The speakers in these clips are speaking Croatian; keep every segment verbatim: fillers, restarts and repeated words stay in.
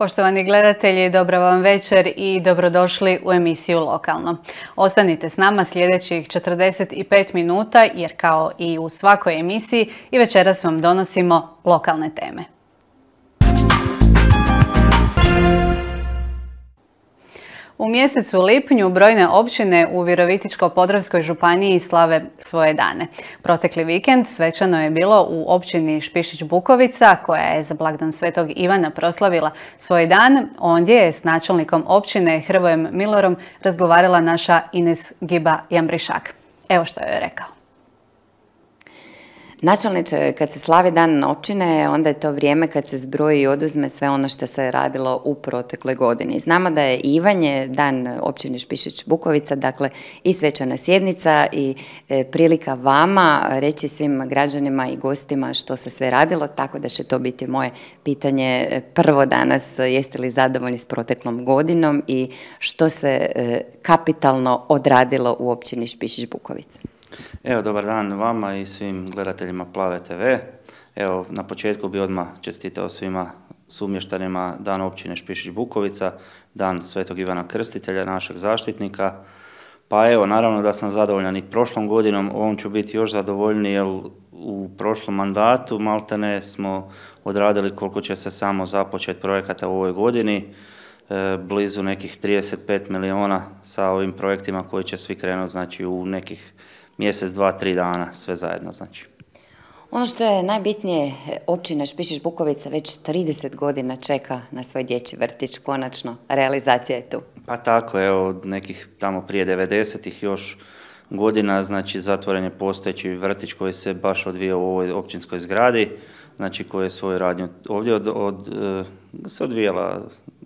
Poštovani gledatelji, dobra vam večer i dobrodošli u emisiju Lokalno. Ostanite s nama sljedećih četrdeset pet minuta jer kao i u svakoj emisiji i večeras vam donosimo lokalne teme. U mjesecu lipnju brojne općine u Virovitičko-podravskoj županiji slave svoje dane. Protekli vikend svečano je bilo u općini Špišić Bukovica, koja je za blagdan Svetog Ivana proslavila svoj dan. Ondje je s načelnikom općine Hrvojem Milorom razgovarala naša Ines Giba-Jambrišak. Evo što je rekao. Načelniče, kad se slavi dan općine, onda je to vrijeme kad se zbroji i oduzme sve ono što se radilo u protekloj godini. Znamo da je Ivanje dan općine Špišić Bukovica, dakle i svečana sjednica i e, prilika vama reći svim građanima i gostima što se sve radilo, tako da će to biti moje pitanje prvo danas. Jeste li zadovoljni s proteklom godinom i što se e, kapitalno odradilo u općini Špišić Bukovica? Evo, dobar dan vama i svim gledateljima Plave te ve. Evo, na početku bi odmah čestitao svima sumještanima dan općine Špišić Bukovica, dan Svetog Ivana Krstitelja, našeg zaštitnika. Pa evo, naravno da sam zadovoljan i prošlom godinom, ovom ću biti još zadovoljniji jer u prošlom mandatu maltene smo odradili koliko će se samo započeti projekata u ovoj godini. E, blizu nekih trideset pet milijuna sa ovim projektima koji će svi krenuti, znači u nekih mjesec, dva, tri dana, sve zajedno znači. Ono što je najbitnije, općina Špišić Bukovica već trideset godina čeka na svoj dječji vrtić, konačno realizacija je tu. Pa tako, evo, nekih tamo prije devedesetih još godina, znači zatvoren je postojeći vrtić koji se baš odvijao u ovoj općinskoj zgradi, znači koji je svoju radnju ovdje od, od, se odvijala,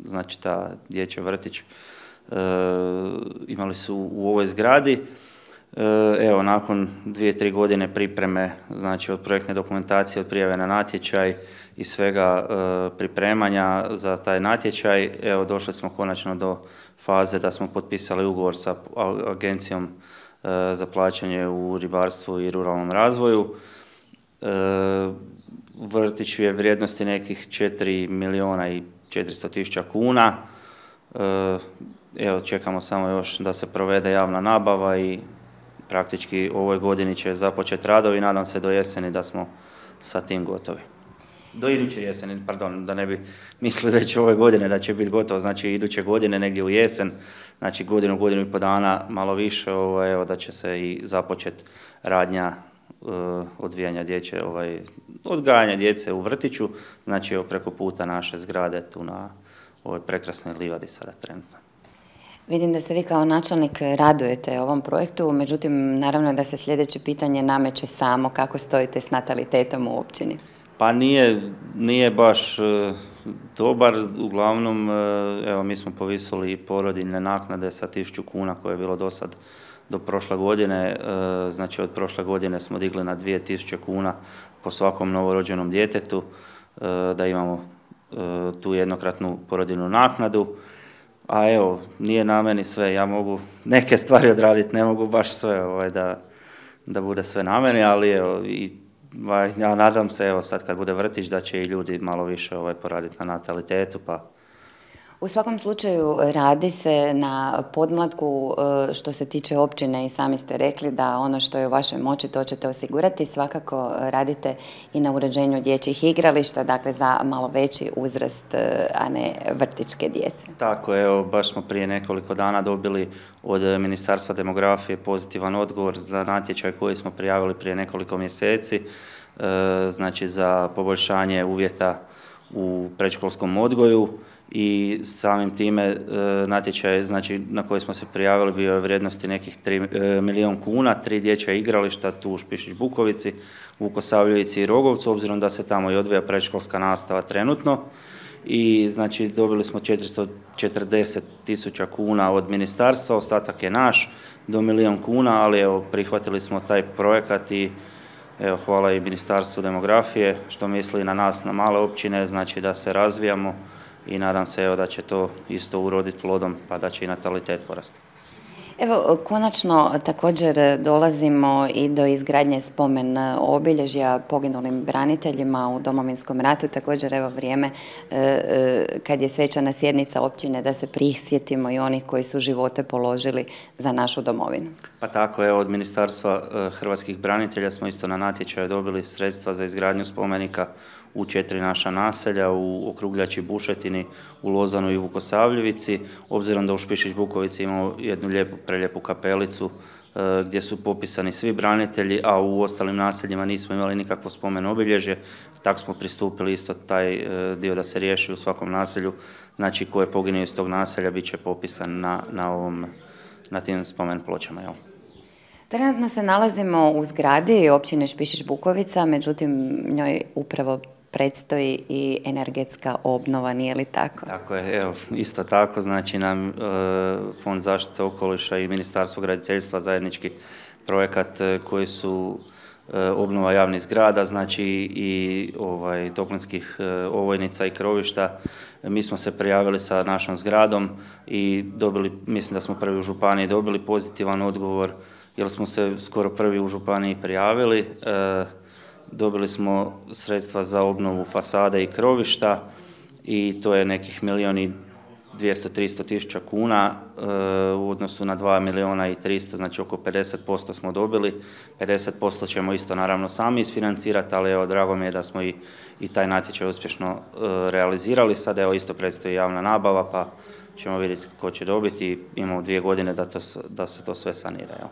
znači ta dječji vrtić, e, imali su u ovoj zgradi. Evo, nakon dvije, tri godine pripreme, znači od projektne dokumentacije, od prijave na natječaj i svega e, pripremanja za taj natječaj, evo, došli smo konačno do faze da smo potpisali ugovor sa agencijom e, za plaćanje u ribarstvu i ruralnom razvoju. E, vrtić je vrijednosti nekih četiri milijuna i četiristo tisuća kuna. E, evo, čekamo samo još da se provede javna nabava i praktički u ovoj godini će započeti radovi i nadam se do jeseni da smo sa tim gotovi. Do iduće jeseni, pardon, da ne bi mislili već ove godine da će biti gotovo, znači iduće godine negdje u jesen, znači godinu, godinu i po dana, malo više, ovaj, evo, da će se i započeti radnja uh, odvijanja djece, ovaj, odgajanja djece u vrtiću, znači evo, preko puta naše zgrade tu na ovoj prekrasnoj livadi sada trenutno. Vidim da se vi kao načelnik radujete ovom projektu, međutim, naravno da se sljedeće pitanje nameće samo kako stojite s natalitetom u općini. Pa nije, nije baš e, dobar, uglavnom, e, evo, mi smo povisili i porodiljne naknade sa tisuću kuna koje je bilo do sad do prošle godine, e, znači od prošle godine smo digli na dvije tisuće kuna po svakom novorođenom djetetu, e, da imamo e, tu jednokratnu porodiljnu naknadu. A evo, nije na meni sve, ja mogu neke stvari odraditi, ne mogu baš sve ovaj, da, da bude sve na meni, ali evo, i, ja nadam se evo, sad kad bude vrtić da će i ljudi malo više ovaj, poraditi na natalitetu. Pa. U svakom slučaju radi se na podmlatku što se tiče općine i sami ste rekli da ono što je u vašoj moći to ćete osigurati. Svakako radite i na uređenju dječjih igrališta, dakle za malo veći uzrast, a ne vrtićke djece. Tako, evo, baš smo prije nekoliko dana dobili od Ministarstva demografije pozitivan odgovor za natječaj koji smo prijavili prije nekoliko mjeseci, znači za poboljšanje uvjeta u predškolskom odgoju. I samim time e, natječaj, znači, na koji smo se prijavili bio je vrijednosti nekih tri milijun kuna, tri dječja igrališta tu u Špišić Bukovici, Vukosavljevici i Rogovcu, obzirom da se tamo i odvija predškolska nastava trenutno. I znači dobili smo četiristo četrdeset tisuća kuna od ministarstva, ostatak je naš, do milijun kuna, ali evo, prihvatili smo taj projekat i evo, hvala i Ministarstvu demografije što misli na nas, na male općine, znači da se razvijamo. I nadam se evo, da će to isto uroditi plodom pa da će i natalitet porasti. Evo, konačno također dolazimo i do izgradnje spomen obilježja poginulim braniteljima u Domovinskom ratu. Također, evo, vrijeme kad je svečana sjednica općine da se prisjetimo i onih koji su živote položili za našu domovinu. Pa tako, evo, od Ministarstva hrvatskih branitelja smo isto na natječaju dobili sredstva za izgradnju spomenika u četiri naša naselja, u Okrugljači, Bušetini, u Lozanu i Vukosavljevici, obzirom da u Špišić Bukovici imamo jednu lijepu, prelijepu kapelicu gdje su popisani svi branitelji, a u ostalim naseljima nismo imali nikakvo spomen obilježje. Tako smo pristupili isto taj dio da se riješi u svakom naselju, znači ko je poginuo iz tog naselja bit će popisan na, na, ovom, na tim spomen pločama. Jel? Trenutno se nalazimo u zgradi općine Špišić Bukovica, međutim njoj upravo predstoji i energetska obnova, nije li tako? Tako je, evo, isto tako, znači nam e, Fond zaštite okoliša i Ministarstvo graditeljstva zajednički projekat e, koji su e, obnova javnih zgrada, znači i ovaj, toplinskih e, ovojnica i krovišta. Mi smo se prijavili sa našom zgradom i dobili, mislim da smo prvi u županiji dobili pozitivan odgovor, jer smo se skoro prvi u županiji prijavili. E, Dobili smo sredstva za obnovu fasade i krovišta i to je nekih milijun i dvjesto do tristo tisuća kuna e, u odnosu na dva milijuna i tristo, znači oko pedeset posto smo dobili. pedeset posto ćemo isto naravno sami isfinancirati, ali evo, drago mi je da smo i, i taj natječaj uspješno e, realizirali. Sad evo isto predstoji javna nabava, pa ćemo vidjeti ko će dobiti. Imamo dvije godine da, to, da se to sve sanira. Jel?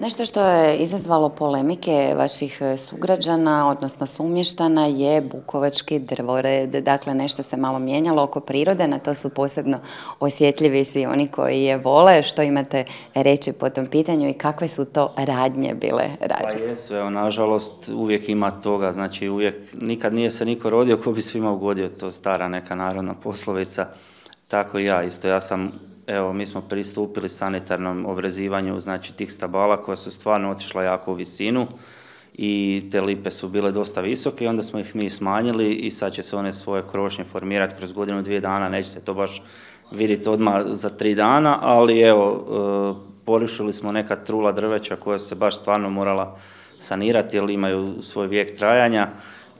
Nešto što je izazvalo polemike vaših sugrađana, odnosno sumještana, je bukovački drvored. Dakle, nešto se malo mijenjalo oko prirode, na to su posebno osjetljivi svi oni koji je vole. Što imate reći po tom pitanju i kakve su to radnje bile rađene? Pa jesu, evo, nažalost, uvijek ima toga, znači uvijek, nikad nije se niko rodio ko bi svima ugodio, to stara neka narodna poslovica. Tako i ja, isto, ja sam Evo, mi smo pristupili sanitarnom obrezivanju, znači tih stabala koja su stvarno otišla jako u visinu i te lipe su bile dosta visoke i onda smo ih mi smanjili i sad će se one svoje krošnje formirati kroz godinu, dvije dana, neće se to baš vidjeti odmah za tri dana, ali evo, porušili smo neka trula drveća koja se baš stvarno morala sanirati jer imaju svoj vijek trajanja.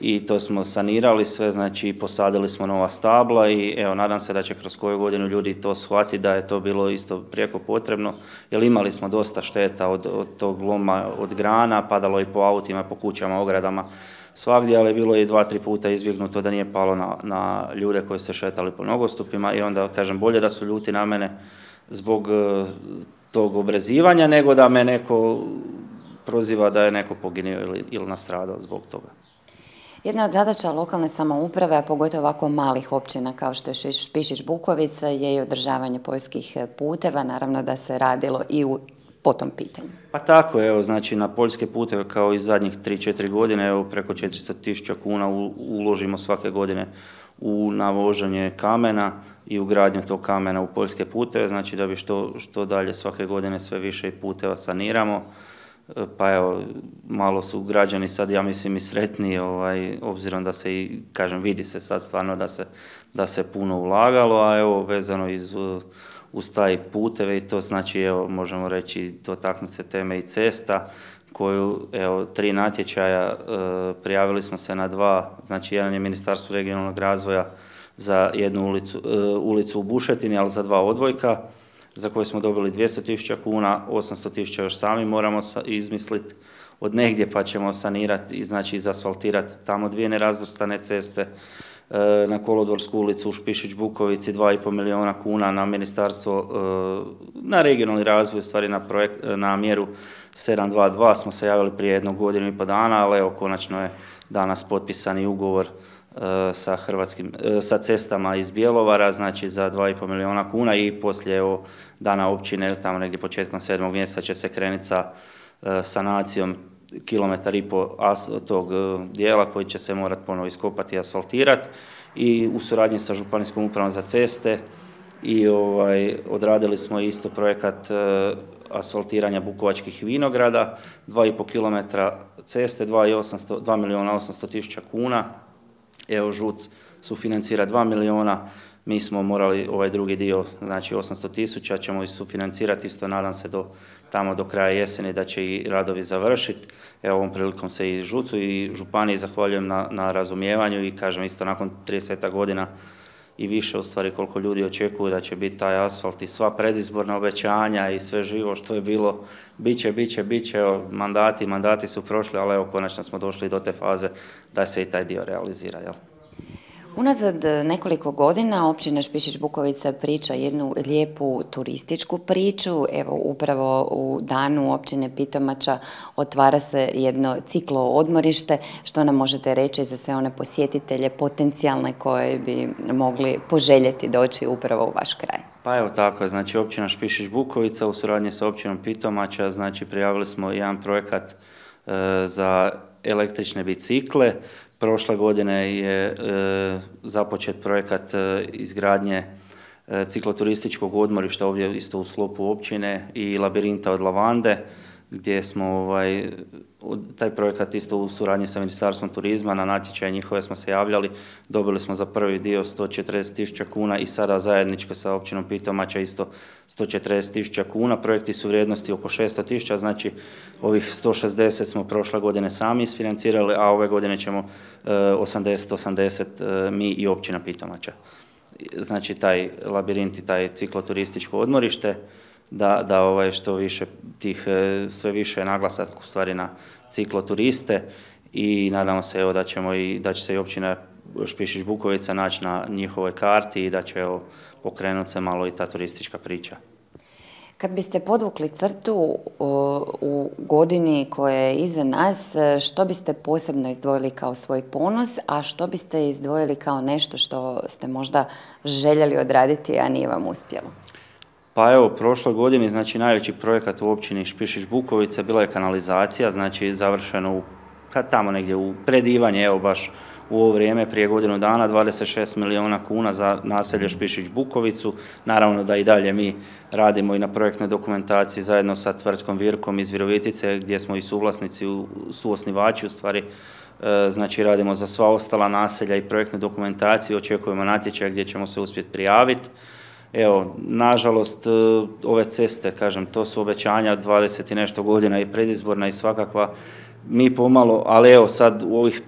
I to smo sanirali sve, znači posadili smo nova stabla i evo, nadam se da će kroz koju godinu ljudi to shvatiti da je to bilo isto prijeko potrebno, jer imali smo dosta šteta od, od tog loma, od grana, padalo i po autima, po kućama, ogradama, svagdje, ali je bilo i dva, tri puta izbjegnuto da nije palo na, na ljude koji se šetali po nogostupima i onda, kažem, bolje da su ljuti na mene zbog uh, tog obrezivanja, nego da me neko proziva da je neko poginuo ili, ili nastradao zbog toga. Jedna od zadaća lokalne samouprave, a pogotovo ovako malih općina kao što je Špišić Bukovica, je i održavanje poljskih puteva, naravno da se radilo i u, po tom pitanju. Pa tako, evo, znači na poljske puteve kao i zadnjih tri četiri godine, evo, preko četiristo tisuća kuna u, uložimo svake godine u navoženje kamena i ugradnju tog kamena u poljske puteve, znači da bi što, što dalje svake godine sve više puteva saniramo. Pa evo, malo su građani sad, ja mislim, i sretniji, ovaj, obzirom da se i, kažem, vidi se sad stvarno da se, da se puno ulagalo, a evo, vezano iz, uz taj puteve i to znači, evo, možemo reći, dotaknuti se teme i cesta, koju, evo, tri natječaja, e, prijavili smo se na dva, znači jedan je Ministarstvo regionalnog razvoja za jednu ulicu, e, ulicu u Bušetini, ali za dva odvojka, za koje smo dobili dvjesto tisuća kuna, osamsto tisuća još sami moramo izmisliti od negdje, pa ćemo sanirati i znači izasfaltirati tamo dvije nerazvrstane ceste, na Kolodvorsku ulicu u Špišić Bukovici dva i pol milijuna kuna, na ministarstvo, na regionalni razvoj, stvari na, projekt, na mjeru sedam dva dva smo se javili prije jednog godinu i po dana, ali evo, konačno je danas potpisani ugovor sa, hrvatskim, sa cestama iz Bjelovara, znači za dva i pol milijuna kuna i poslije evo, dana općine, tamo negdje početkom sedmog mjeseca će se krenuti sa sanacijom kilometar i po tog dijela koji će se morati ponovo iskopati i asfaltirati i u suradnji sa Županijskom upravom za ceste i ovaj, odradili smo isto projekat e, asfaltiranja bukovačkih vinograda, dva i pol kilometra ceste, dva milijuna osamsto tisuća kuna. Evo, ŽUC sufinancira dva milijuna Mi smo morali ovaj drugi dio, znači osamsto tisuća, ćemo i sufinancirati, isto nadam se do tamo do kraja jeseni da će i radovi završiti. Evo, ovom prilikom se i ŽUC-u i županiji zahvaljujem na, na razumijevanju i kažem isto nakon trideset godina i više u stvari koliko ljudi očekuju da će biti taj asfalt i sva predizborna obećanja i sve živo što je bilo, bit će, bit će, bit će, evo, mandati, mandati su prošli, ali evo konačno smo došli do te faze da se i taj dio realizira, jel? Unazad nekoliko godina općina Špišić Bukovica priča jednu lijepu turističku priču. Evo, upravo u danu općine Pitomača otvara se jedno ciklo odmorište. Što nam možete reći za sve one posjetitelje potencijalne koje bi mogli poželjeti doći upravo u vaš kraj? Pa evo tako, znači općina Špišić Bukovica u suradnji sa općinom Pitomača, znači prijavili smo jedan projekat e, za električne bicikle. Prošle godine je e, započet projekat e, izgradnje e, cikloturističkog odmorišta ovdje isto u sklopu općine i labirinta od lavande, gdje smo ovaj, taj projekat isto u suradnji sa Ministarstvom turizma, na natječaje njihove smo se javljali, dobili smo za prvi dio sto četrdeset tisuća kuna i sada zajedničko sa općinom Pitomača isto sto četrdeset tisuća kuna. Projekti su vrijednosti oko šesto tisuća, znači ovih sto šezdeset smo prošle godine sami isfinancirali, a ove godine ćemo osamdeset osamdeset mi i općina Pitomača. Znači taj labirint i taj cikloturističko odmorište, da, da ovaj, što više tih, sve više naglasak u stvari na cikloturiste i nadamo se evo, da, ćemo i, da će se i općina Špišić Bukovica naći na njihovoj karti i da će evo, pokrenuti se malo i ta turistička priča. Kad biste podvukli crtu u godini koja je iza nas, što biste posebno izdvojili kao svoj ponos, a što biste izdvojili kao nešto što ste možda željeli odraditi, a nije vam uspjelo? Pa evo, prošloj godini, znači najveći projekat u općini Špišić Bukovica bila je kanalizacija, znači završeno u, tamo negdje u predivanje, evo baš u ovo vrijeme, prije godinu dana, dvadeset šest milijuna kuna za naselje Špišić Bukovicu. Naravno da i dalje mi radimo i na projektnoj dokumentaciji zajedno sa tvrtkom Virkom iz Virovitice, gdje smo i suvlasnici, suosnivači u stvari. Znači radimo za sva ostala naselja i projektnu dokumentaciju, očekujemo natječaj gdje ćemo se uspjeti prijaviti. Evo, nažalost, ove ceste, kažem, to su obećanja dvadeset i nešto godina i predizborna i svakakva. Mi pomalo, ali evo sad u ovih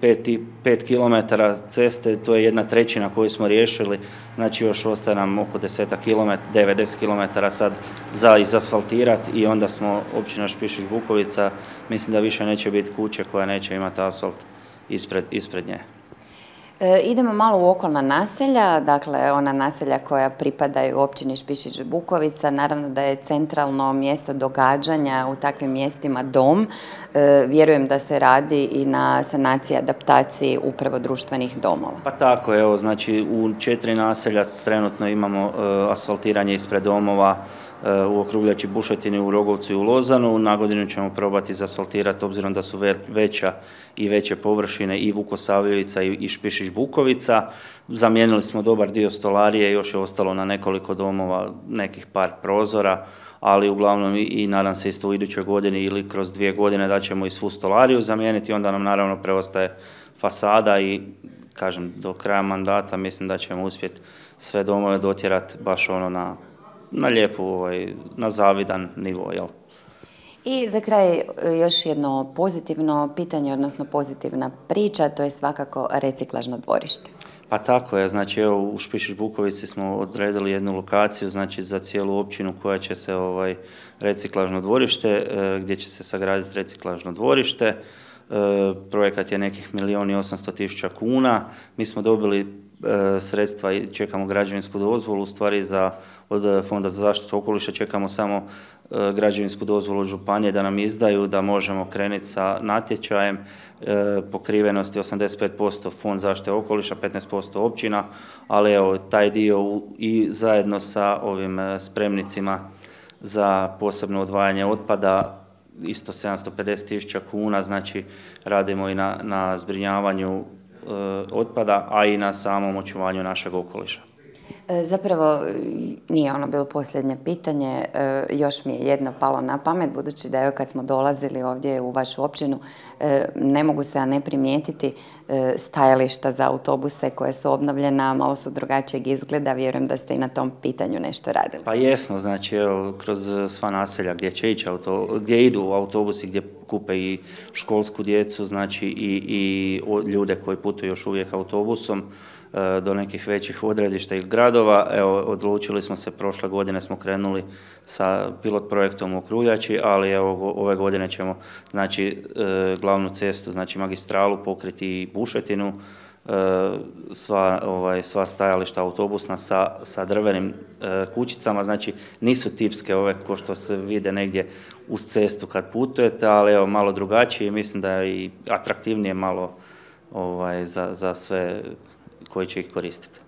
pet kilometara ceste, to je jedna trećina koju smo riješili, znači još ostaje nam oko deset kilometara, devedeset kilometara sad za izasfaltirati i onda smo općina Špišić Bukovica, mislim da više neće biti kuće koja neće imati asfalt ispred, ispred nje. E, idemo malo u okolna naselja, dakle ona naselja koja pripadaju općini Špišić Bukovica, naravno da je centralno mjesto događanja u takvim mjestima dom. E, vjerujem da se radi i na sanaciji, adaptaciji upravo društvenih domova. Pa tako, evo, znači u četiri naselja trenutno imamo e, asfaltiranje ispred domova, u Okruljači, Bušetini, u Rogovcu i u Lozanu. Na godinu ćemo probati izasfaltirati obzirom da su veća i veće površine i Vukosavljevica i Špišić Bukovica. Zamijenili smo dobar dio stolarije, još je ostalo na nekoliko domova nekih par prozora, ali uglavnom i, i nadam se isto u idućoj godini ili kroz dvije godine da ćemo i svu stolariju zamijeniti, onda nam naravno preostaje fasada i kažem do kraja mandata mislim da ćemo uspjeti sve domove dotjerati baš ono na na lijepu, ovaj, na zavidan nivo, jel? I za kraj još jedno pozitivno pitanje, odnosno pozitivna priča, to je svakako reciklažno dvorište. Pa tako je, znači evo u Špišić Bukovici smo odredili jednu lokaciju, znači za cijelu općinu koja će se ovaj, reciklažno dvorište, e, gdje će se sagraditi reciklažno dvorište. E, projekat je nekih milijun i osamsto tisuća kuna. Mi smo dobili e, sredstva i čekamo građevinsku dozvolu, u stvari za od Fonda za zaštitu okoliša čekamo samo e, građevinsku dozvolu od županije da nam izdaju, da možemo krenuti sa natječajem, e, pokrivenosti osamdeset pet posto Fond zaštite okoliša, petnaest posto općina, ali evo taj dio u, i zajedno sa ovim e, spremnicima za posebno odvajanje otpada, isto sedamsto pedeset tisuća kuna, znači radimo i na, na zbrinjavanju e, otpada, a i na samom očuvanju našeg okoliša. Zapravo nije ono bilo posljednje pitanje, još mi je jedno palo na pamet, budući da evo kad smo dolazili ovdje u vašu općinu, ne mogu se a ne primijetiti stajališta za autobuse koje su obnovljena, malo su drugačijeg izgleda, vjerujem da ste i na tom pitanju nešto radili. Pa jesmo, znači evo, kroz sva naselja gdje će ići auto, gdje idu autobusi, gdje kupe i školsku djecu, znači i, i ljude koji putuju još uvijek autobusom, do nekih većih odredišta iz gradova. Evo, odlučili smo se, prošle godine smo krenuli sa pilot projektom u Kruljači, ali evo, ove godine ćemo, znači, glavnu cestu, znači magistralu pokriti i Bušetinu, sva, ovaj, sva stajališta autobusna sa, sa drvenim kućicama, znači nisu tipske ove ko što se vide negdje uz cestu kad putujete, ali evo, malo drugačije i mislim da je i atraktivnije malo ovaj, za, za sve koji će ih koristiti.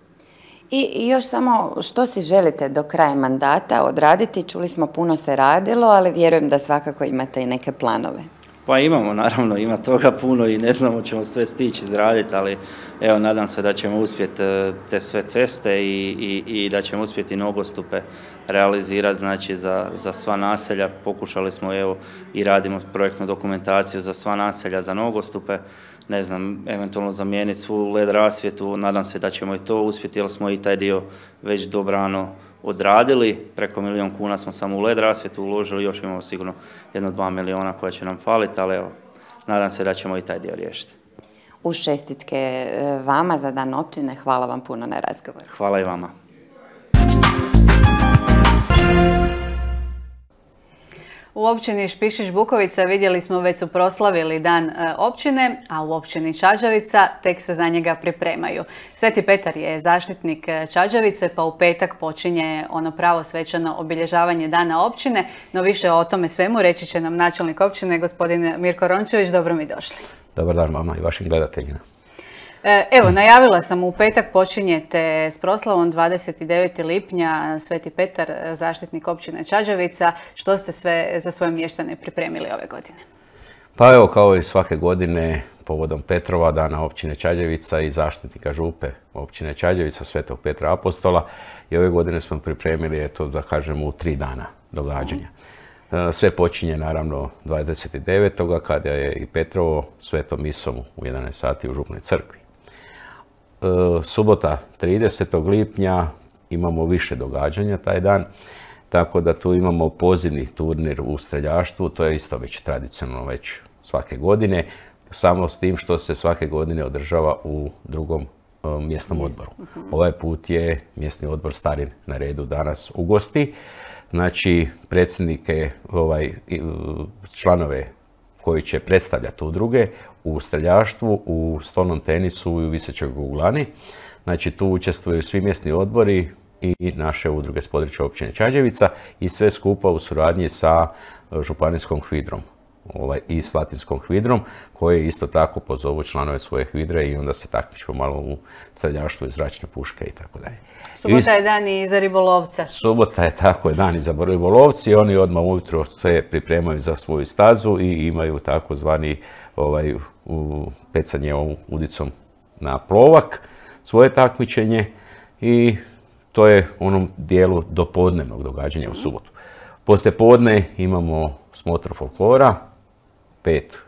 I još samo što si želite do kraja mandata odraditi? Čuli smo puno se radilo, ali vjerujem da svakako imate i neke planove. Pa imamo, naravno, ima toga puno i ne znamo ćemo sve stići izraditi, ali evo, nadam se da ćemo uspjeti te sve ceste i, i, i da ćemo uspjeti nogostupe realizirati, znači za, za sva naselja. Pokušali smo, evo, i radimo projektnu dokumentaciju za sva naselja za nogostupe, ne znam, eventualno zamijeniti svu L E D rasvjetu, nadam se da ćemo i to uspjeti, jer smo i taj dio već dobrano odradili, preko milijun kuna smo samo u L E D rasvjetu uložili, još imamo sigurno jedno dva milijuna koja će nam faliti, ali evo, nadam se da ćemo i taj dio riješiti. Uz čestitke vama za Dan općine, hvala vam puno na razgovor. Hvala i vama. U općini Špišić Bukovica vidjeli smo već su proslavili Dan općine, a u općini Čađavica tek se za njega pripremaju. Sveti Petar je zaštitnik Čađavice, pa u petak počinje ono pravo svečano obilježavanje Dana općine, no više o tome svemu reći će nam načelnik općine, gospodin Mirko Rončević. Dobro mi došli. Dobar dan vama i vašim gledateljima. Evo, najavila sam, u petak počinjete s proslavom dvadeset devetog lipnja, Sveti Petar, zaštitnik općine Čađavica. Što ste sve za svoje mještane pripremili ove godine? Pa evo, kao i svake godine, povodom Petrova, Dana općine Čađavica i zaštitnika župe općine Čađavica, Svetog Petra Apostola, i ove godine smo pripremili, eto, da kažemo, u tri dana događanja. Sve počinje naravno dvadeset devetog kada je i Petrovo svetom misom u jedanaest sati u Župnoj crkvi. Subota tridesetog lipnja imamo više događanja taj dan, tako da tu imamo pozivni turnir u streljaštvu, to je isto već tradicionalno već svake godine, samo s tim što se svake godine održava u drugom mjesnom odboru. Ovaj put je mjesni odbor Starin na redu danas u gosti. Znači, predsjednike, ovaj, članove koji će predstavljati udruge u streljaštvu, u stolnom tenisu i u visećoj kuglani. Znači, tu učestvuju svi mjesni odbori i naše udruge s područja općine Čađavica i sve skupa u suradnji sa županijskom HVIDRom. Ovaj, i s latinskom HVIDRom, koje isto tako pozovu članove svoje HVIDRe i onda se takmičimo malo u streljaštvu i zračne puške i tako dalje. Subota je dan i za ribolovce. Subota je tako je dan i za ribolovci i oni odmah ujutro sve pripremaju za svoju stazu i imaju takozvani ovaj, pecanje ovom udicom na plovak, svoje takmičenje i to je u onom dijelu dopodnevnog događanja u subotu. Poslije podne imamo smotru folklora, pet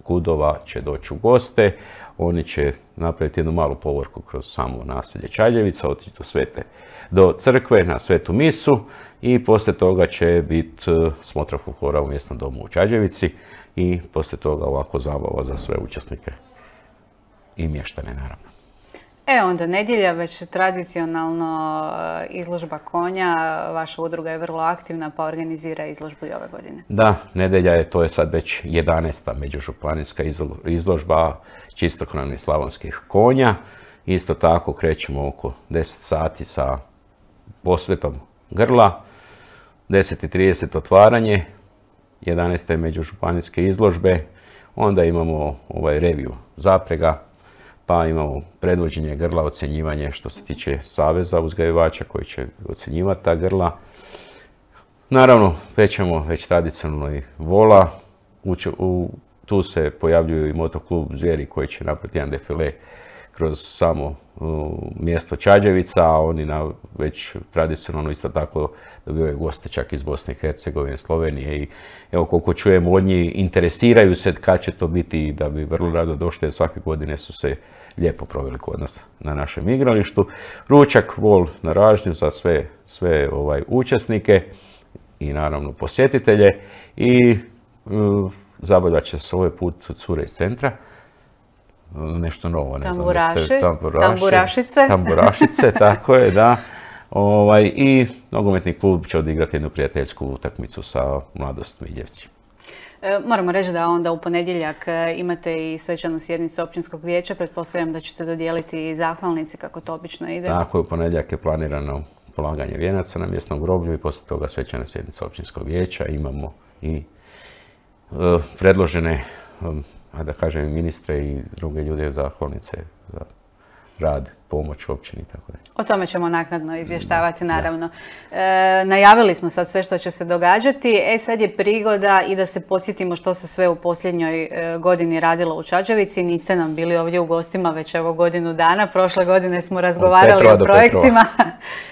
kudova će doći u goste, oni će napraviti jednu malu povorku kroz samo naselje Čađavica, otići do, svete, do crkve na svetu misu i poslije toga će biti smotra folklora u mjesnom domu u Čađavici i poslije toga ovako zabava za sve učesnike i mještane naravno. E, onda nedjelja, već tradicionalno izložba konja. Vaša udruga je vrlo aktivna pa organizira izložbu i ove godine. Da, nedjelja je, to je sad već jedanaesta međužupanijska izložba čistokrvnih slavonskih konja. Isto tako krećemo oko deset sati sa posvetom grla, deset i trideset otvaranje jedanaeste međužupanijske izložbe, onda imamo ovaj reviju zaprega, pa imamo predvođenje grla, ocjenjivanje što se tiče Saveza uzgajivača koji će ocjenjivati ta grla. Naravno, pećemo već tradicionalno i vola. U, tu se pojavljuju i motoklub Zvijeri koji će napraviti jedan defile kroz samo mjesto Čađevica, a oni na već tradicionalno isto tako dobivaju goste čak iz Bosne i Hercegovine, Slovenije i evo koliko čujemo od njih interesiraju se kad će to biti i da bi vrlo rado došli jer svake godine su se lijepo proveli kod nas na našem igralištu. Ručak, vol na ražnju za sve, sve ovaj, učesnike i naravno posjetitelje i uh, zabavljaće će se ovaj put cure iz centra. Nešto novo, ne Tamburaši, znam. Tamburaši, tamburašice. Tamburašice, tako je, da. Ovaj, I nogometni klub će odigrati jednu prijateljsku utakmicu sa Mladost Miljevci. E, moramo reći da onda u ponedjeljak imate i svečanu sjednicu općinskog vijeća. Pretpostavljam da ćete dodijeliti i zahvalnici kako to obično ide. Tako je, u ponedjeljak je planirano polaganje vijenaca na mjesnom groblju i poslije toga svečana sjednica općinskog vijeća. Imamo i uh, predložene um, a da kažem ministre i druge ljude zahvalnice za rad, pomoć općini, tako da. O tome ćemo naknadno izvještavati, naravno. E, najavili smo sad sve što će se događati, e sad je prigoda i da se podsjetimo što se sve u posljednjoj e, godini radilo u Čađevici. Niste nam bili ovdje u gostima već evo godinu dana, prošle godine smo razgovarali o projektima.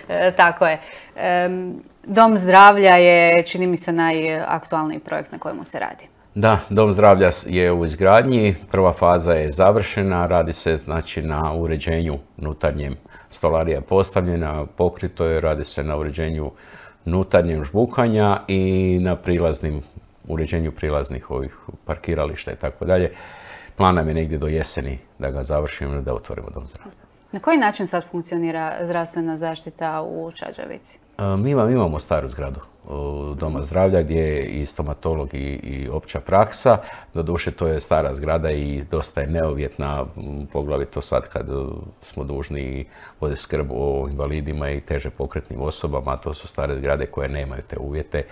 e, tako je. E, Dom zdravlja je, čini mi se, najaktualniji projekt na kojemu se radi. Da, Dom zdravlja je u izgradnji, prva faza je završena, radi se znači na uređenju unutarnjem, stolarija je postavljena, pokrito je, radi se na uređenju unutarnjem žbukanja i na prilaznim, uređenju prilaznih ovih parkirališta i tako dalje. Plan nam je negdje do jeseni da ga završimo i da otvorimo Dom zdravlja. Na koji način sad funkcionira zdravstvena zaštita u Čađavici? Mi imamo staru zgradu Doma zdravlja gdje je i stomatolog i, i opća praksa. Doduše to je stara zgrada i dosta je neuvjetna, poglavito sad kad smo dužni voditi skrb o invalidima i teže pokretnim osobama, a to su stare zgrade koje nemaju te uvjete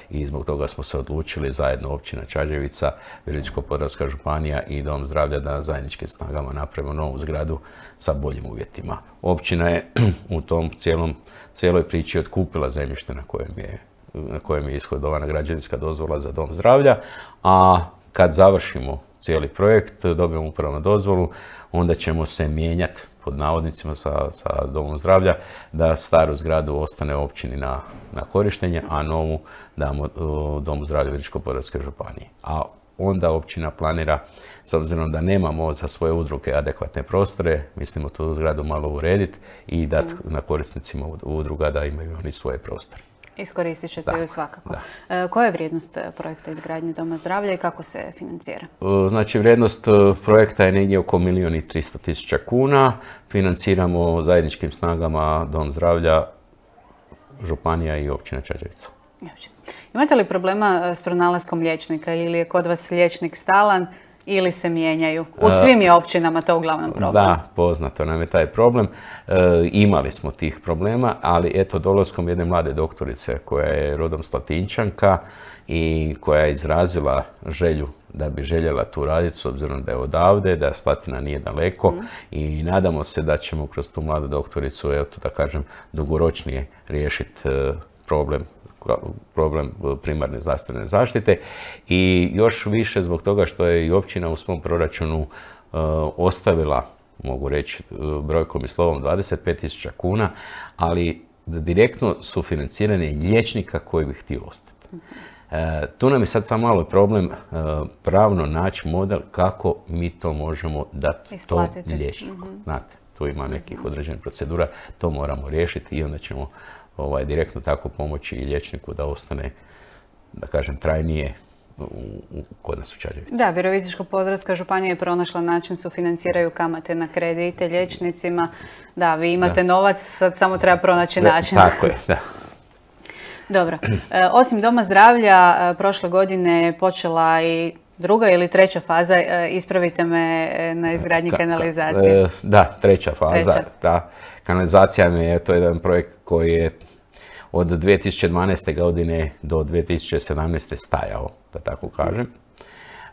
i zbog toga smo se odlučili zajedno općina Čađevica, Virovitičko-podravska županija i Dom zdravlja da zajedničkim snagama napravimo novu zgradu sa boljim uvjetima. Općina je u tom cijelom, cijeloj priči otkupila zemljište na kojem je na kojem je ishodovana građevinska dozvola za Dom zdravlja, a kad završimo cijeli projekt, dobijemo upravnu dozvolu, onda ćemo se mijenjati pod navodnicima sa, sa Domom zdravlja da staru zgradu ostane općini na, na korištenje, a novu damo uh, Domu zdravlja Virovitičko-podravske županije. A onda općina planira, s obzirom da nemamo za svoje udruge adekvatne prostore, mislimo tu zgradu malo urediti i dati mm. na korisnicima udruga da imaju oni svoje prostore. Iskoristit ćete ju svakako. Da. Koja je vrijednost projekta izgradnje Doma zdravlja i kako se financira? Znači, vrijednost projekta je negdje oko milijun i tristo tisuća kuna. Financiramo zajedničkim snagama Dom zdravlja, županija i općina Čađevica. Imate li problema s pronalaskom liječnika ili je kod vas liječnik stalan ili se mijenjaju? U svim je općinama to uglavnom problem. Da, poznato nam je taj problem. E, imali smo tih problema, ali eto, dolaskom jedne mlade doktorice koja je rodom Slatinčanka i koja je izrazila želju da bi željela tu raditi, s obzirom da je odavde, da Slatina nije daleko mm. i nadamo se da ćemo kroz tu mladu doktoricu, evo to da kažem, dugoročnije riješiti problem problem primarne zdravstvene zaštite i još više zbog toga što je i općina u svom proračunu uh, ostavila, mogu reći brojkom i slovom, dvadeset pet tisuća kuna, ali direktno sufinanciranje liječnika koji bi htio ostati. Uh, tu nam je sad samo malo problem uh, pravno naći model kako mi to možemo dati tom liječniku. Mm-hmm. Znate, tu ima nekih određenih procedura, to moramo riješiti i onda ćemo Ovaj, direktno tako pomoći i liječniku da ostane, da kažem, trajnije u, u, kod nas u Čađevici. Da, Virovitičko-podravska županija je pronašla način, sufinanciraju kamate na kredite liječnicima. Da, vi imate da. novac, sad samo treba pronaći da, način. Tako je, da. Dobro. E, osim Doma zdravlja, e, prošle godine je počela i druga ili treća faza, e, ispravite me, e, na izgradnji ka, kanalizacije. E, da, treća faza. Treća. Da. Kanalizacija je to jedan projekt koji je od dvije tisuće dvanaeste. godine do dvije tisuće sedamnaeste. stajao, da tako kažem.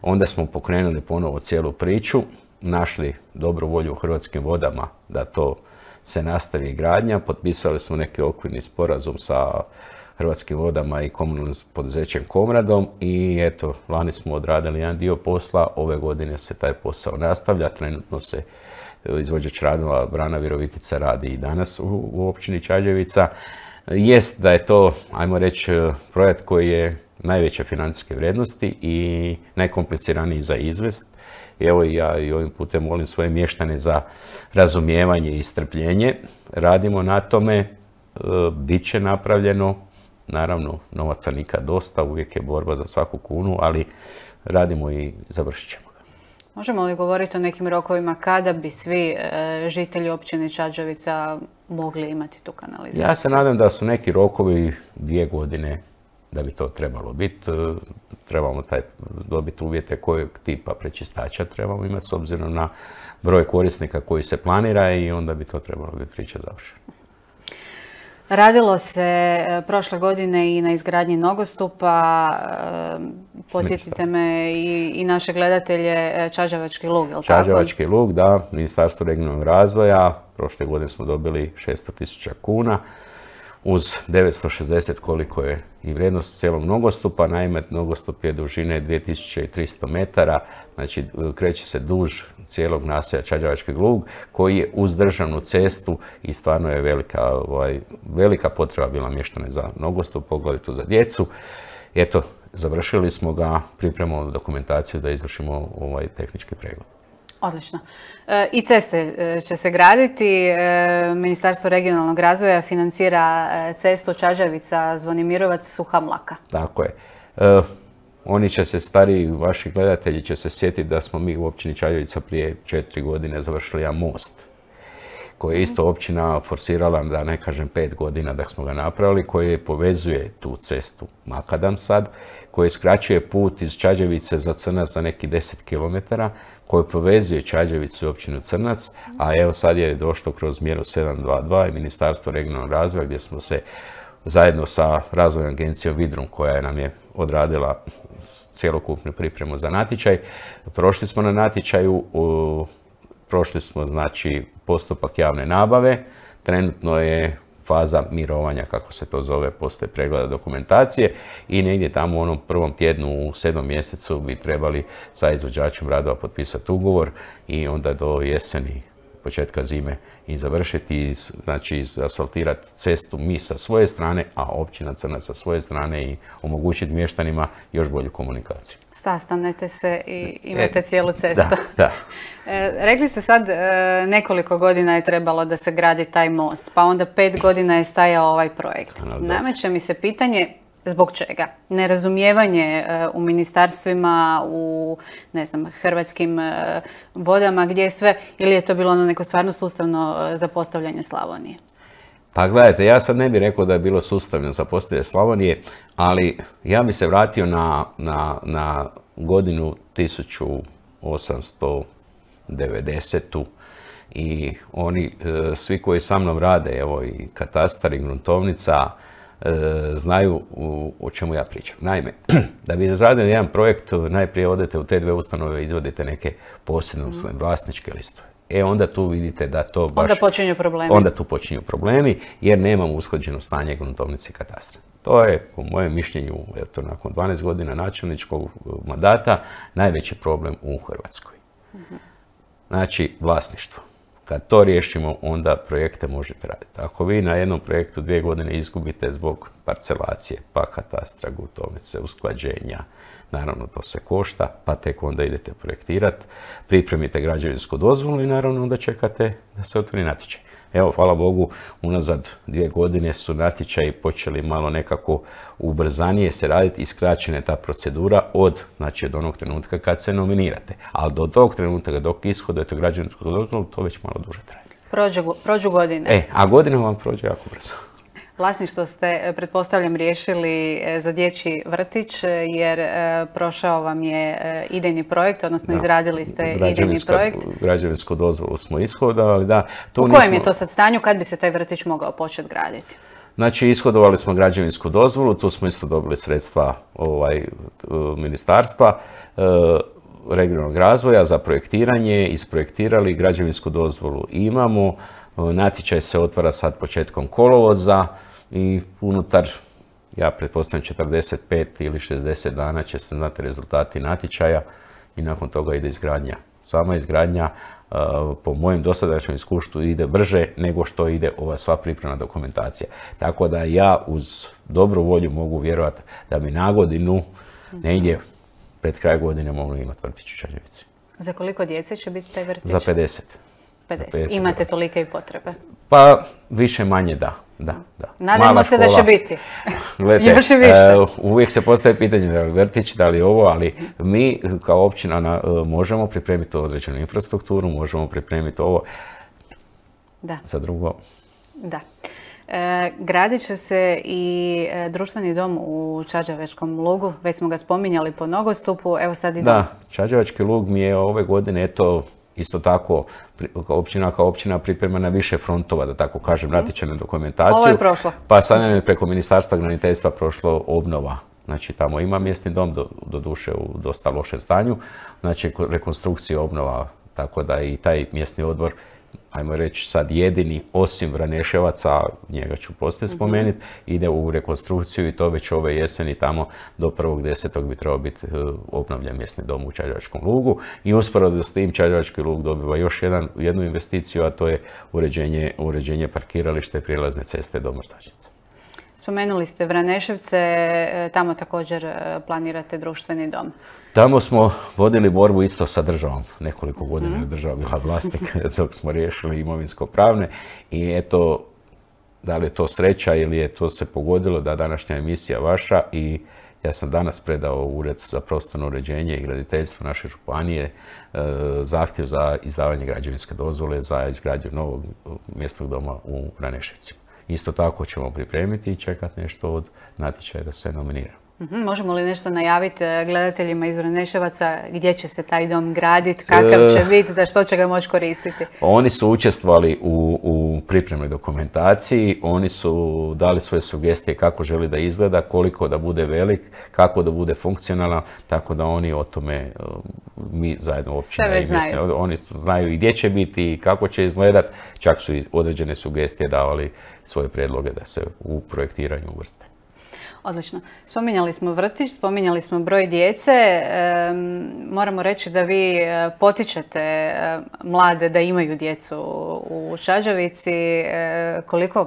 Onda smo pokrenuli ponovo cijelu priču, našli dobru volju u Hrvatskim vodama da to se nastavi gradnja, potpisali smo neki okvirni sporazum sa Hrvatskim vodama i komunalnim poduzećem Komradom i eto, lani smo odradili jedan dio posla, ove godine se taj posao nastavlja, trenutno se izvođač radova Brana Virovitica radi i danas u, u općini Čađavica. Jest da je to, ajmo reći, projekt koji je najveće financijske vrijednosti i najkompliciraniji za izvest. Evo i ja i ovim putem molim svoje mještane za razumijevanje i strpljenje. Radimo na tome, bit će napravljeno. Naravno, novaca nikad dosta, uvijek je borba za svaku kunu, ali radimo i završit ćemo ga. Možemo li govoriti o nekim rokovima kada bi svi e, žitelji općine Čađavica mogli imati tu kanalizaciju? Ja se nadam da su neki rokovi dvije godine da bi to trebalo biti. Trebamo taj, dobiti uvjete kojeg tipa prečistača trebamo imati s obzirom na broj korisnika koji se planira i onda bi to trebalo biti priča završena. Radilo se prošle godine i na izgradnji nogostupa. Podsjetite me i, i naše gledatelje, Čađavački lug, je li tako? Čađavački lug, da. Ministarstvo regionalnog razvoja. Prošle godine smo dobili šesto tisuća kuna uz devetsto šezdeset koliko je i vrijednost cijelog nogostupa. Naime, nogostup je dužine dvije tisuće tristo metara, znači kreće se duž cijelog naselja Čađavački lug koji je uz državnu cestu i stvarno je velika, ovaj, velika potreba bila mještane za nogostup, poglavito za djecu. Eto, završili smo ga, pripremamo dokumentaciju da izvršimo ovaj tehnički pregled. Odlično. I ceste će se graditi. Ministarstvo regionalnog razvoja financira cestu Čađavica, Zvonimirovac, Suha Mlaka. Tako je. E, oni će se, stariji vaši gledatelji će se sjetiti da smo mi u općini Čađavica prije četiri godine završili jedan most koji je isto općina forsirala, da ne kažem pet godina da smo ga napravili, koji povezuje tu cestu Makadam sad, koji skraćuje put iz Čađavice za Crnac za neki deset kilometara, koji povezuje Čađavicu i općinu Crnac, a evo sad je došlo kroz mjeru sedam dva dva i Ministarstvo regionalnog razvoja gdje smo se zajedno sa razvojnom agencijom Vidrum koja nam je odradila cjelokupnu pripremu za natječaj. Prošli smo na natječaju, prošli smo znači postupak javne nabave, trenutno je faza mirovanja, kako se to zove, poslije pregleda dokumentacije i negdje tamo u onom prvom tjednu u sedmom mjesecu bi trebali sa izvođačem radova potpisati ugovor i onda do jeseni, početka zime i završiti, znači asfaltirati cestu mi sa svoje strane, a općina Crnac sa svoje strane i omogućiti mještanima još bolju komunikaciju. Sastanete se i imate e, cijelu cestu. Da, da. E, rekli ste sad e, nekoliko godina je trebalo da se gradi taj most, pa onda pet godina je stajao ovaj projekt. Nameće mi se pitanje zbog čega? Nerazumijevanje e, u ministarstvima, u ne znam, Hrvatskim e, vodama, gdje je sve, ili je to bilo ono neko stvarno sustavno e, zapostavljanje Slavonije? Pa gledajte, ja sad ne bih rekao da je bilo sustavno zapostavljanje Slavonije, ali ja bih se vratio na, na, na godinu tisuću osamsto devedesetu i oni e, svi koji sa mnom rade, evo i katastar i gruntovnica, e, znaju u, o čemu ja pričam. Naime, da bi izradili jedan projekt, najprije odete u te dve ustanove i izvodite neke posebne mm. vlasničke listove. E onda tu vidite da to baš... Onda počinju problemi. Onda tu počinju problemi jer nemamo usklađeno stanje gruntovnice i katastra. To je, po mojem mišljenju, eto, nakon dvanaest godina načelničkog mandata, najveći problem u Hrvatskoj. Mm-hmm. Znači, vlasništvo. Kad to riješimo, onda projekte možete raditi. Ako vi na jednom projektu dvije godine izgubite zbog parcelacije, pa katastra, gruntovnice, usklađenja, naravno to sve košta, pa tek onda idete projektirati, pripremite građevinsku dozvolu i naravno onda čekate da se otvori natječaj. Evo, hvala Bogu, unazad dvije godine su natječaji počeli malo nekako ubrzanije se raditi i skraćena je ta procedura od, znači, od onog trenutka kad se nominirate. Ali do tog trenutka dok ishodujete građevinsku dozvolu, to već malo duže traje. Prođu, prođu godine. E, a godina vam prođe jako brzo. Vlasništvo ste, pretpostavljam, riješili za dječji vrtić jer prošao vam je idejni projekt, odnosno da, izradili ste idejni projekt. Građevinsku dozvolu smo ishodovali, da. U kojem nismo... je to sad stanju, kad bi se taj vrtić mogao početi graditi? Znači, ishodovali smo građevinsku dozvolu, tu smo isto dobili sredstva ovaj, ministarstva e, regionalnog razvoja za projektiranje, isprojektirali, građevinsku dozvolu imamo. Natječaj se otvara sad početkom kolovoza i unutar, ja pretpostavljam, četrdeset pet ili šezdeset dana će se znati rezultati natječaja i nakon toga ide izgradnja. Sama izgradnja, po mojem dosadašnjem iskustvu ide brže nego što ide ova sva pripremna dokumentacija. Tako da ja uz dobru volju mogu vjerovati da bi na godinu negdje pred kraj godine mogli imati vrtić u Čađavici. Za koliko djece će biti taj vrtić? Za pedeset. pedeset. Imate tolike i potrebe? Pa više manje da. Da, da. Nadamo se da će biti. Gledajte, još i više. Uh, uvijek se postaje pitanje da li vrtić, da li ovo, ali mi kao općina na, uh, možemo pripremiti određenu infrastrukturu, možemo pripremiti ovo. Da. Za drugo. Da. E, gradit će se i e, društveni dom u Čađavečkom lugu, već smo ga spominjali po nogostupu, evo sad i dom. Da, Čađavački lug mi je ove godine, eto, isto tako, općina kao općina priprema na više frontova, da tako kažem, natječajnu dokumentaciju. Ovo je prošlo. Pa sad nam je preko Ministarstva graditeljstva prošlo obnova. Znači, tamo ima mjesni dom, do, do duše u dosta lošem stanju. Znači, rekonstrukcija, obnova, tako da i taj mjesni odbor, ajmo reći sad jedini, osim Vraneševaca, njega ću poslije spomenuti, ide u rekonstrukciju i to već ove jeseni tamo do prvog desetog bi trebao biti obnovljen mjesni dom u Čađavačkom lugu. I usporedo s tim Čađavački lug dobiva još jedan, jednu investiciju, a to je uređenje, uređenje parkirališta i prijelazne ceste do Mrtačice. Spomenuli ste Vraneševce, tamo također planirate društveni dom. Tamo smo vodili borbu isto sa državom. Nekoliko godina je država bila vlasnik dok smo riješili imovinsko-pravne i eto, da li je to sreća ili je to se pogodilo da današnja emisija vaša i ja sam danas predao u Ured za prostorno uređenje i graditeljstvo naše županije zahtjev za izdavanje građevinske dozvole za izgradnju novog mjesnog doma u Vraneševcima. Isto tako ćemo pripremiti i čekati nešto od natječaja da se nominira. Možemo li nešto najaviti gledateljima iz Vraneševaca gdje će se taj dom graditi, kakav će biti, za što će ga moći koristiti? Oni su učestvovali u, u pripremnoj dokumentaciji, oni su dali svoje sugestije kako želi da izgleda, koliko da bude velik, kako da bude funkcionalan, tako da oni o tome, mi zajedno općina i mjesne, oni znaju i gdje će biti i kako će izgledati, čak su i određene sugestije davali svoje prijedloge da se u projektiranju uvrste. Odlično. Spominjali smo vrtić, spominjali smo broj djece. E, moramo reći da vi potičete mlade da imaju djecu u Čađavici. E, koliko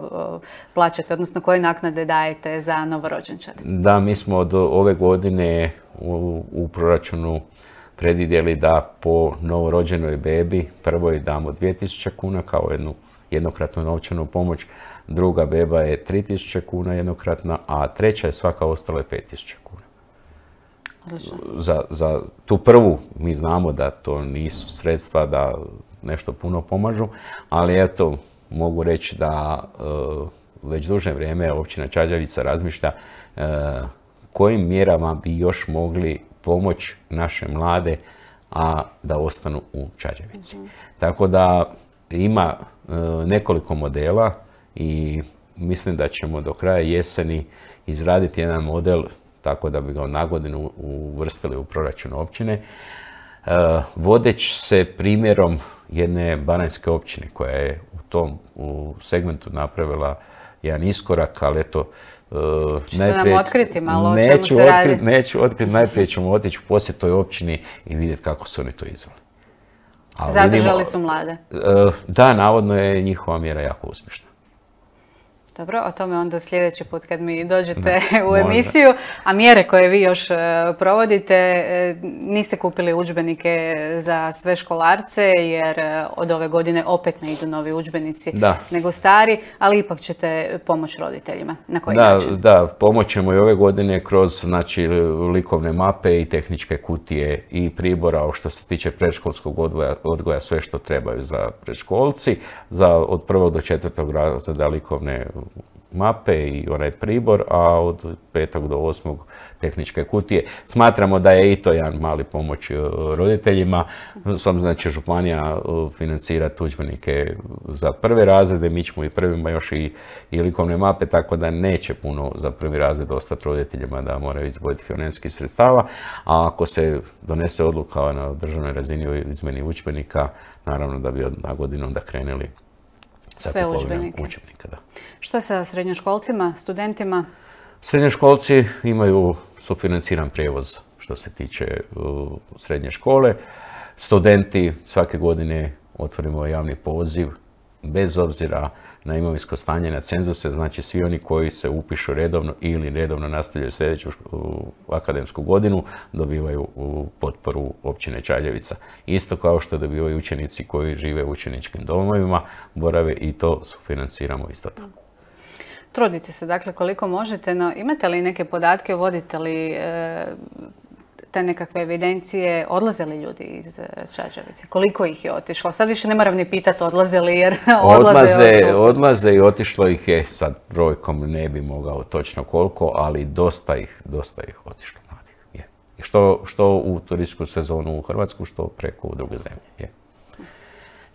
plaćate, odnosno koje naknade dajete za novorođenčad? Da, mi smo od ove godine u, u proračunu predvidjeli da po novorođenoj bebi prvoj damo dvije tisuće kuna kao jednu jednokratnu novčanu pomoć, druga beba je tri tisuće kuna jednokratna, a treća je svaka ostala je pet tisuća kuna. Za, za tu prvu mi znamo da to nisu sredstva da nešto puno pomažu, ali eto, mogu reći da e, već duže vrijeme općina Čađavica razmišlja e, kojim mjerama bi još mogli pomoći naše mlade, a da ostanu u Čađavici. Mm-hmm. Tako da ima e, nekoliko modela i mislim da ćemo do kraja jeseni izraditi jedan model tako da bi ga na godinu uvrstili u proračun općine. E, vodeć se primjerom jedne baranjske općine koja je u tom u segmentu napravila jedan iskorak, ali eto, Uh, Čete nam otkriti malo o čemu se radi? Otkrit, neću otkriti, najprije ćemo otići u posjet toj općini i vidjeti kako su oni to izveli. Zadržali vidimo, su mlade? Uh, da, navodno je njihova mjera jako uspješna. Dobro, o tome onda sljedeći put kad mi dođete da, u emisiju. A mjere koje vi još provodite, niste kupili udžbenike za sve školarce jer od ove godine opet ne idu novi udžbenici da. nego stari, ali ipak ćete pomoći roditeljima. Na koji da, način? Da, pomoćemo i ove godine kroz znači, likovne mape i tehničke kutije i pribora što se tiče predškolskog odgoja, odgoja sve što trebaju za predškolci, za od prvog do četvrtog razreda likovne mape i onaj pribor, a od petog do osmog tehničke kutije. Smatramo da je i to jedan mali pomoć roditeljima. Sam znači županija financira udžbenike za prve razrede, mi ćemo i prvima još i, i likovne mape, tako da neće puno za prvi razred ostati roditeljima da moraju izdvojiti financijskih sredstava, a ako se donese odluka na državnoj razini o izmjeni udžbenika, naravno da bi od, na godinu onda krenuli sve udžbenike. Da. Što sa srednjoškolcima, studentima? Srednjoškolci imaju sufinanciran prijevoz što se tiče uh, srednje škole. Studenti svake godine otvorimo javni poziv, bez obzira na imovinsko stanje, na cenzuse, znači svi oni koji se upišu redovno ili redovno nastavljaju sljedeću akademsku godinu, dobivaju potporu općine Čagljevica. Isto kao što dobivaju učenici koji žive u učeničkim domovima, borave i to sufinanciramo isto tako. Trudite se, dakle, koliko možete, no imate li neke podatke, vodite li e, te nekakve evidencije, odlaze li ljudi iz Čagljevice? Koliko ih je otišlo? Sad više ne moram ni pitati odlaze li, jer odlaze, odlaze Odlaze i otišlo ih je, sad brojkom ne bi mogao točno koliko, ali dosta ih, dosta ih otišlo mladih. Je. Što, što u turističku sezonu u Hrvatsku, što preko u druge zemlje. Je.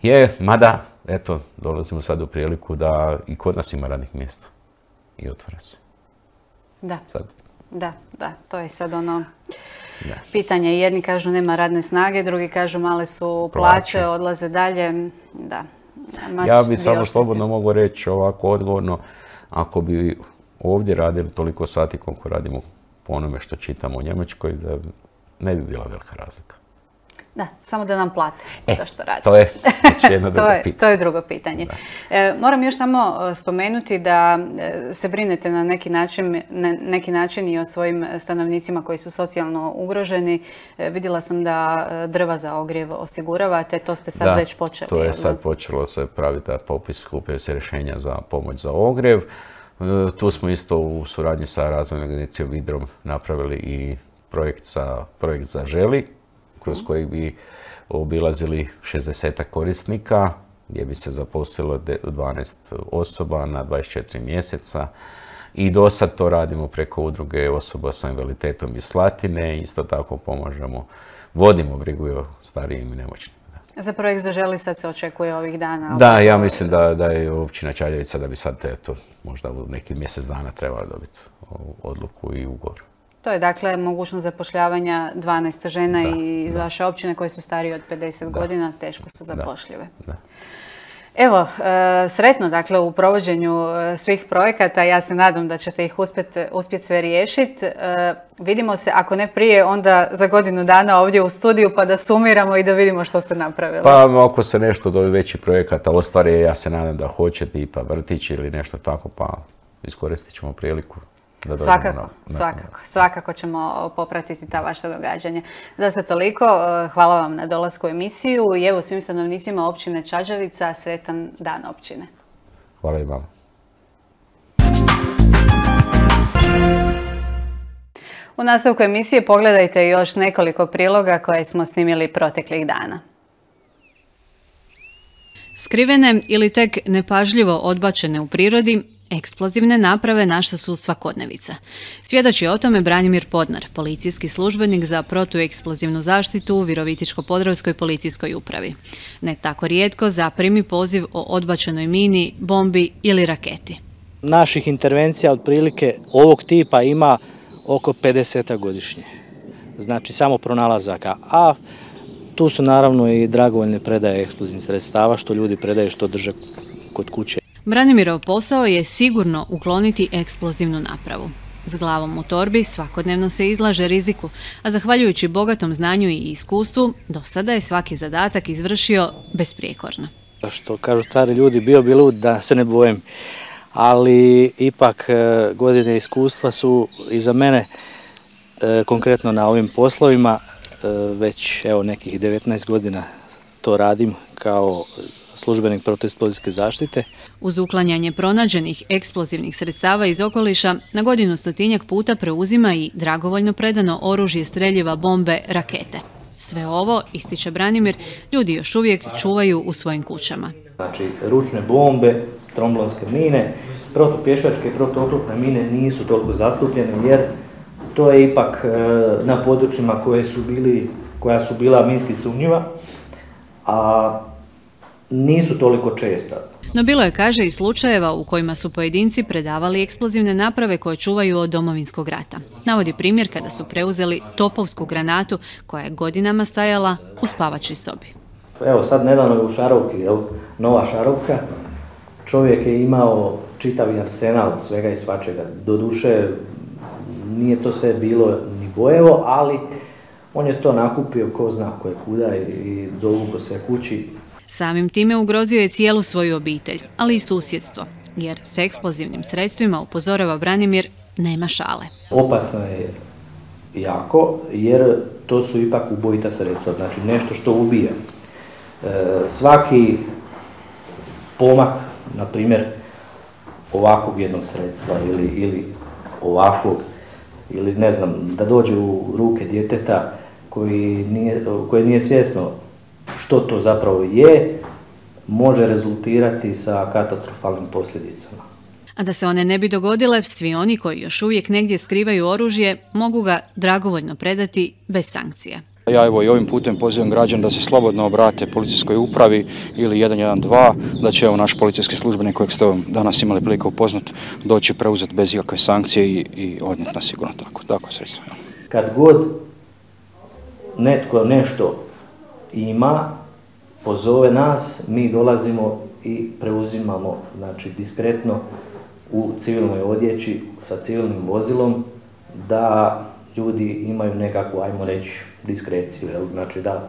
Je, mada, eto, dolazimo sad u priliku da i kod nas ima radnih mjesta. I otvara se. Da, sad. da, da, to je sad ono da. pitanje. Jedni kažu nema radne snage, drugi kažu male su plaće, plaće odlaze dalje. Da. Mač ja bi samo slobodno mogu reći ovako odgovorno, ako bi ovdje radili toliko sati koliko radimo po onome što čitamo u Njemačkoj, da ne bi bila velika razlika. Da, samo da nam plate e, to što radi. To je jedno drugo to je, pitanje. To je drugo pitanje. E, moram još samo spomenuti da se brinete na neki način, na neki način i o svojim stanovnicima koji su socijalno ugroženi. E, vidjela sam da drva za ogrjev osiguravate, to ste sad da, već počeli. To je sad počelo se praviti popis, skupio se rješenja za pomoć za ogrjev. E, tu smo isto u suradnji sa razvojnom agencijom Vidrom napravili i projekt za, projekt za Želi, kroz koji bi obilazili šezdesetak korisnika, gdje bi se zaposlilo dvanaest osoba na dvadeset četiri mjeseca. I do sad to radimo preko udruge osoba sa invaliditetom iz Slatine. Isto tako pomažemo, vodimo brigu o starijim i nemoćnim. Za projekt Zaželi sad se očekuje ovih dana? Da, ja mislim da, da je općina Čagljevica da bi sad eto, možda u neki mjesec dana trebala dobiti odluku i ugovor. To je dakle mogućnost zapošljavanja dvanaest žena da, iz da. vaše općine koje su starije od pedeset da. godina, teško su zapošljive. Da. Da. Evo, sretno dakle u provođenju svih projekata, ja se nadam da ćete ih uspjeti uspjet sve riješiti. Vidimo se, ako ne prije, onda za godinu dana ovdje u studiju pa da sumiramo i da vidimo što ste napravili. Pa ako se nešto od ovih većih projekata ostvari, ja se nadam da hoćete i pa vrtić ili nešto tako, pa iskoristit ćemo priliku. Svakako, na, na, svakako, svakako ćemo popratiti ta vaša događanja. Za sad toliko, hvala vam na dolasku u emisiju i evo svim stanovnicima općine Čagljevica sretan dan općine. Hvala i vama. U nastavku emisije pogledajte još nekoliko priloga koje smo snimili proteklih dana. Skrivene ili tek nepažljivo odbačene u prirodi, eksplozivne naprave naša su svakodnevica. Svjedoči o tome Branimir Podnar, policijski službenik za protueksplozivnu zaštitu u Virovitičko-podravskoj policijskoj upravi. Ne tako rijetko zaprimi poziv o odbačenoj mini, bombi ili raketi. Naših intervencija otprilike ovog tipa ima oko pedeset godišnje. Znači samo pronalazaka. A tu su naravno i dragovoljne predaje eksplozivnih sredstava, što ljudi predaju, što drže kod kuće. Branimirov posao je sigurno ukloniti eksplozivnu napravu. S glavom u torbi svakodnevno se izlaže riziku, a zahvaljujući bogatom znanju i iskustvu, do sada je svaki zadatak izvršio besprijekorno. Što kažu stari ljudi, bio bi lud da se ne bojim, ali ipak godine iskustva su iza mene, konkretno na ovim poslovima, već evo nekih devetnaest godina to radim kao službenik protueksplozijske zaštite. Uz uklanjanje pronađenih eksplozivnih sredstava iz okoliša, na godinu stotinjak puta preuzima i dragovoljno predano oružje, streljiva, bombe, rakete. Sve ovo, ističe Branimir, ljudi još uvijek čuvaju u svojim kućama. Znači, ručne bombe, tromblonske mine, protupješačke i protuoklopne mine nisu toliko zastupljene jer to je ipak na područjima koje su bili, koja su bila minski sumnjiva, a nisu toliko česta. No bilo je, kaže, i slučajeva u kojima su pojedinci predavali eksplozivne naprave koje čuvaju od Domovinskog rata. Navodi primjer kada su preuzeli topovsku granatu koja je godinama stajala u spavačoj sobi. Evo sad nedavno je u Šarovki, jel, nova Šarovka. Čovjek je imao čitavi arsenal svega i svačega. Doduše nije to sve bilo ni bojevo, ali on je to nakupio ko zna koje kuda i dovuko sve kući. Samim time ugrozio je cijelu svoju obitelj, ali i susjedstvo, jer s eksplozivnim sredstvima, upozorava Branimir, nema šale. Opasno je jako, jer to su ipak ubojita sredstva, znači nešto što ubija. E, svaki pomak, na primjer, ovakvog jednog sredstva ili, ili ovakvog, ili ne znam, da dođe u ruke djeteta koji nije, koje nije svjesno što to zapravo je, može rezultirati sa katastrofalnim posljedicama. A da se one ne bi dogodile, svi oni koji još uvijek negdje skrivaju oružje mogu ga dragovoljno predati bez sankcije. Ja evo i ovim putem pozivam građane da se slobodno obrate policijskoj upravi ili jedan jedan dva, da će evo naš policijski službenik kojeg ste danas imali priliku upoznat doći preuzeti bez ikakve sankcije i, i odnijeti na sigurno tako, tako sredstvo. Kad god netko nešto ima, pozove nas, mi dolazimo i preuzimamo, znači diskretno u civilnoj odjeći sa civilnim vozilom, da ljudi imaju nekakvu, ajmo reći, diskreciju, jel? Znači da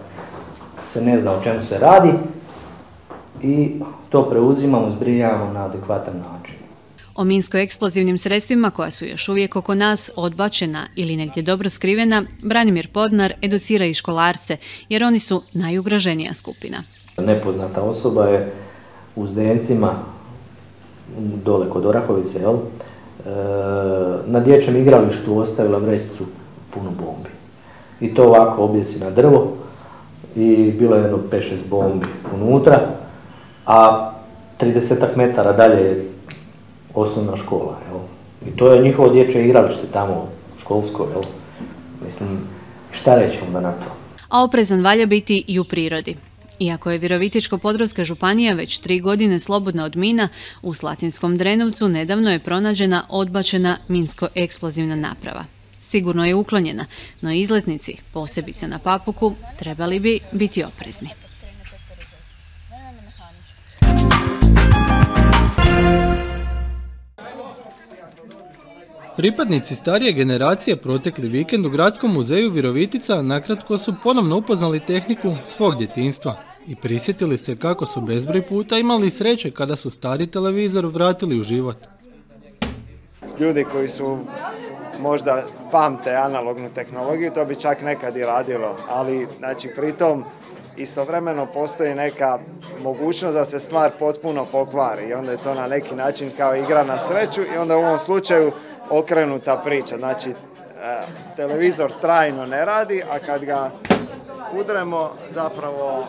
se ne zna o čemu se radi i to preuzimamo, zbrinjavamo na adekvatan način. O minsko-eksplozivnim sredstvima koja su još uvijek oko nas odbačena ili negdje dobro skrivena, Branimir Podnar educira i školarce, jer oni su najugroženija skupina. Nepoznata osoba je u Zdencima, dole kod Orahovice, jel? Na dječjem igralištu ostavila vrećicu punu bombi. I to ovako objesi na drvo i bilo je jedno pet šest bombi unutra, a tridesetak metara dalje je osnovna škola. Jel? I to je njihovo dječje igralište tamo, školsko. Jel? Mislim, šta reći onda na to? A oprezan valja biti i u prirodi. Iako je Virovitičko-podravska županija već tri godine slobodna od mina, u Slatinskom Drenovcu nedavno je pronađena odbačena minsko-eksplozivna naprava. Sigurno je uklonjena, no izletnici, posebice na Papuku, trebali bi biti oprezni. Pripadnici starije generacije protekli vikend u Gradskom muzeju Virovitica nakratko su ponovno upoznali tehniku svog djetinjstva i prisjetili se kako su bezbroj puta imali sreće kada su stari televizor vratili u život. Ljudi koji su možda pamte analognu tehnologiju, to bi čak nekad i radilo, ali znači pritom istovremeno postoji neka mogućnost da se stvar potpuno pokvari i onda je to na neki način kao igra na sreću i onda u ovom slučaju okrenuta priča. Znači, televizor trajno ne radi, a kad ga udremo, zapravo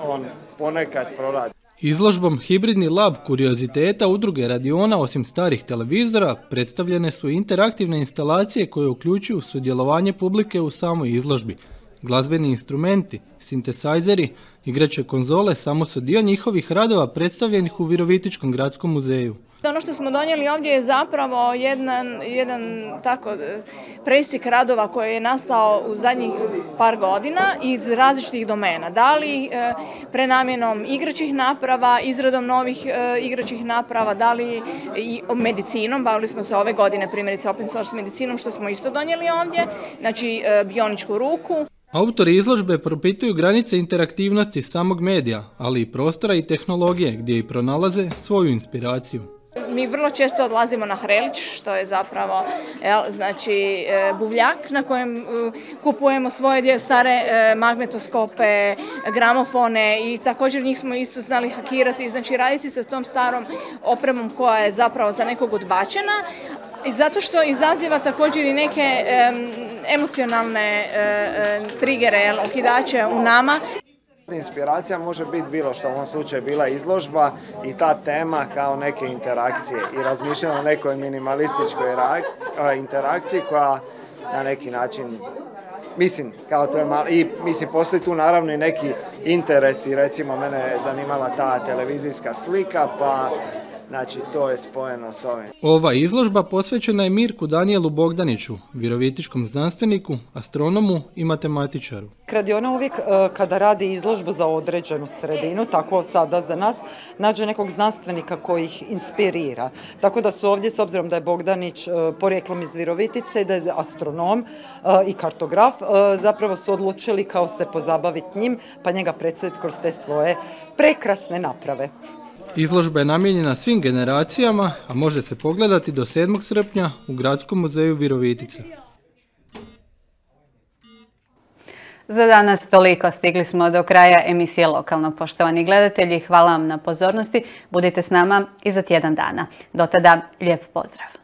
on ponekad proradi. Izložbom Hibridni lab kurioziteta udruge Radiona osim starih televizora predstavljene su interaktivne instalacije koje uključuju sudjelovanje publike u samoj izložbi. Glazbeni instrumenti, sintesajzeri, igrače konzole samo su dio njihovih radova predstavljenih u Virovitičkom gradskom muzeju. Ono što smo donijeli ovdje je zapravo jedan, jedan tako presjek radova koji je nastao u zadnjih par godina iz različitih domena. Da li e, prenamjenom igračih naprava, izradom novih e, igračih naprava, da li i medicinom, bavili smo se ove godine primjerice open source medicinom što smo isto donijeli ovdje, znači e, bioničku ruku. Autori izložbe propituju granice interaktivnosti samog medija, ali i prostora i tehnologije gdje i pronalaze svoju inspiraciju. Mi vrlo često odlazimo na Hrelić, što je zapravo jel, znači, buvljak na kojem uh, kupujemo svoje stare uh, magnetoskope, gramofone i također njih smo isto znali hakirati, znači raditi sa tom starom opremom koja je zapravo za nekog odbačena. I zato što izaziva također i neke um, emocionalne uh, trigere, okidače u nama. Inspiracija može biti bilo što, u ovom slučaju bila izložba i ta tema kao neke interakcije i razmišljamo o nekoj minimalističkoj interakciji koja na neki način, mislim, kao to je malo, i mislim, postoji tu naravno i neki interesi, recimo mene je zanimala ta televizijska slika, pa znači to je spojeno s ovim. Ova izložba posvećena je Mirku Danijelu Bogdaniću, virovitičkom znanstveniku, astronomu i matematičaru. Kradiona uvijek kada radi izložbu za određenu sredinu, tako sada za nas, nađe nekog znanstvenika koji ih inspirira. Tako da su ovdje, s obzirom da je Bogdanić porijeklom iz Virovitice i da je astronom i kartograf, zapravo su odlučili kao se pozabaviti njim, pa njega predstaviti kroz te svoje prekrasne naprave. Izložba je namijenjena svim generacijama, a može se pogledati do sedmog srpnja u Gradskom muzeju Virovitica. Za danas toliko. Stigli smo do kraja emisije Lokalno. Poštovani gledatelji, hvala vam na pozornosti. Budite s nama i za tjedan dana. Do tada, lijep pozdrav.